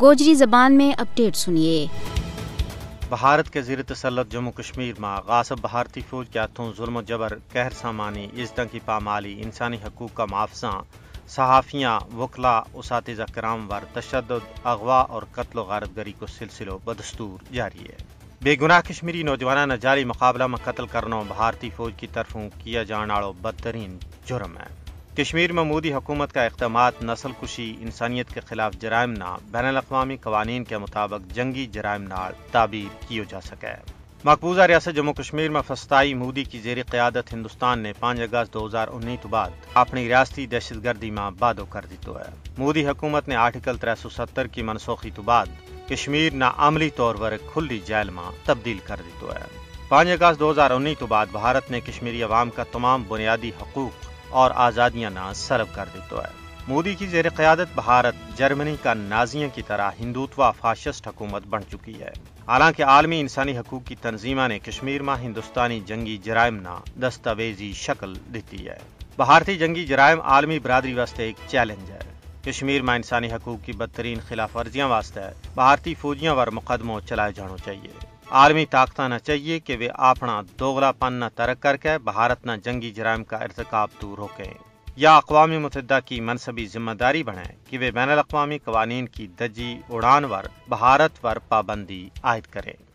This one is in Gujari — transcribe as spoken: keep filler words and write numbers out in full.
گوجری زبان میں اپڈیٹ سنیے۔ بھارت کے زیر تسلط جموں کشمیر ما غاصب بھارتی فوج کے ہتھوں ظلم و جبر، قہر سامانی، عزتاں کی پامالی، انسانی حقوق کا محافظاں، صحافیاں، وکلا، اساتذہ کرام ور تشدد، اغوا اور قتل و غارت گری کو سلسلو بدستور جاری ہے۔ بے گناہ کشمیری نوجواناں نا جعلی مقابلہ ما قتل کرنو بھارتی فوج کی طرفوں کیا جان آڑو بدترین جرم ہے۔ کشمیر ما مودی حکومت کا اقدامات نسل کشی، انسانیت کے خلاف جرائم نا بین الاقوامی قوانین کے مطابق جنگی جرائم نال تعبیر کیو جا سکے۔ مقبوضہ ریاست جموں کشمیر ما فستائی مودی کی زیر قیادت ہندوستان نے پانچ اگست دو ہزار انی تو بعد اپنی ریاستی دہشت گردی ما بادو کر دیتو ہے۔ مودی حکومت نے آرٹیکل ترے سو ستر کی منسوخی تو بعد کشمیر نا عملی طور پر ایک کھلی جیل ما تبدیل کر دیتو ہے۔ پانچ اگست دو ہزار انی تو بعد بھارت نے کشمیری عوام کا تمام بنیادی حقوق اور آزادیاں نا سلب کر دیتو ہے۔ مودی کی زیر قیادت بھارت جرمنی کا نازیاں کی طرح ہندوتوا فاشسٹ حکومت بن چکی ہے۔ حالانکہ عالمی انسانی حقوق کی تنظیماں نے کشمیر ما ہندوستانی جنگی جرائم نا دستاویزی شکل دیتی ہے۔ بھارتی جنگی جرائم عالمی برادری واسطے ایک چیلنج ہے۔ کشمیر ما انسانی حقوق کی بدترین خلاف ورزیاں واسطے بھارتی فوجیاں ور مقدمو چلائے جانو چاہیے۔ عالمی طاقتاں نا چاہیے کہ ویہ اپنا دوغلا پن نا ترک کر کے بھارت نا جنگی جرائم کا ارتکاب تو روکیں۔ یا اقوام متحدہ کی منصبی ذمہ داری بنائیں کہ ویہ بین الاقوامی قوانین کی دجی اڑان ور بھارت ور پابندی عائد کریں۔